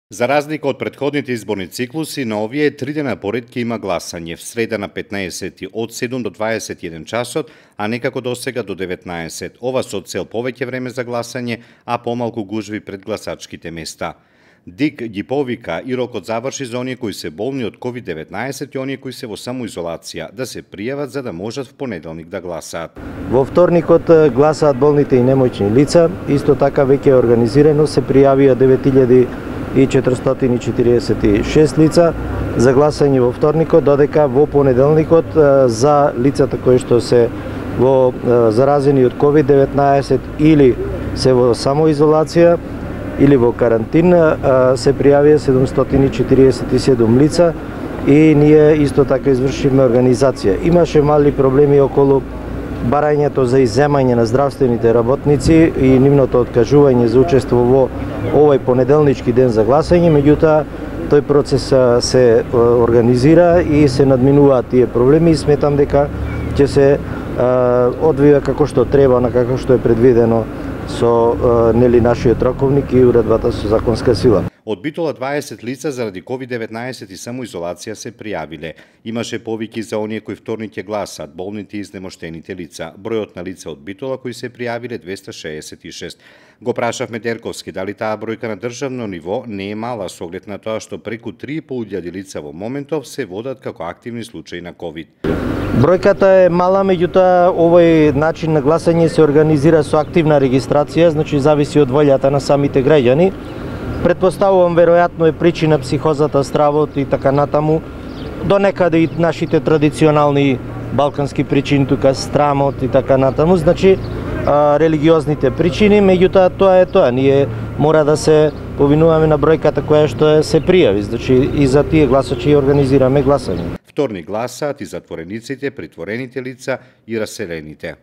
За разлика од претходните изборни циклуси, на овие 3 дена поред ќе има гласање в среда на 15 од 7 до 21 часот, а некако досега до 19. Ова со цел повеќе време за гласање, а помалку гужви пред гласачките места. ДИК ги повика и рокот заврши за оние кои се болни од COVID-19 и оние кои се во самоизолација да се пријават за да можат в понеделник да гласаат. Во вторникот гласаат болните и немоćни лица, исто така веќе е организирано, се пријавија 9446 лица за гласање во вторникот, додека во понеделникот за лицата кои што се во заразени од COVID-19 или се во самоизолација или во карантин се пријавија 747 лица и ние исто така извршивме организација. Имаше мали проблеми околу барањето за изземање на здравствените работници и нивното откажување за учество во овој понеделнички ден за гласање, меѓутоа тој процес се организира и се надминуваат тие проблеми и сметам дека ќе се одвива како што треба, на како што е предвидено со нашиот роковник и уредбата со законска сила. Од Битола 20 лица заради COVID-19 и самоизолација се пријавиле. Имаше повики за оние кои вторник ќе гласаат, болните и изнемоштените лица. Бројот на лица од Битола кои се пријавиле 266. Го прашавме Дерковски дали таа бројка на државно ниво не е мала со оглед на тоа што преку 3.500 лица во моментов се водат како активни случаи на COVID. Бројката е мала, меѓутоа овој начин на гласање се организира со активна регистрација, значи зависи од волјата на самите граѓани. Предпоставувам, веројатно е причина психозата, стравот и така натаму, до некаде и нашите традиционални балкански причини, тука страмот и така натаму, значи религиозните причини, меѓутоа тоа е тоа. Ние мора да се повинуваме на бројката која што се пријави, значи и за тие гласачи организираме гласање. Вторник гласаат и затворениците, притворените лица и раселените.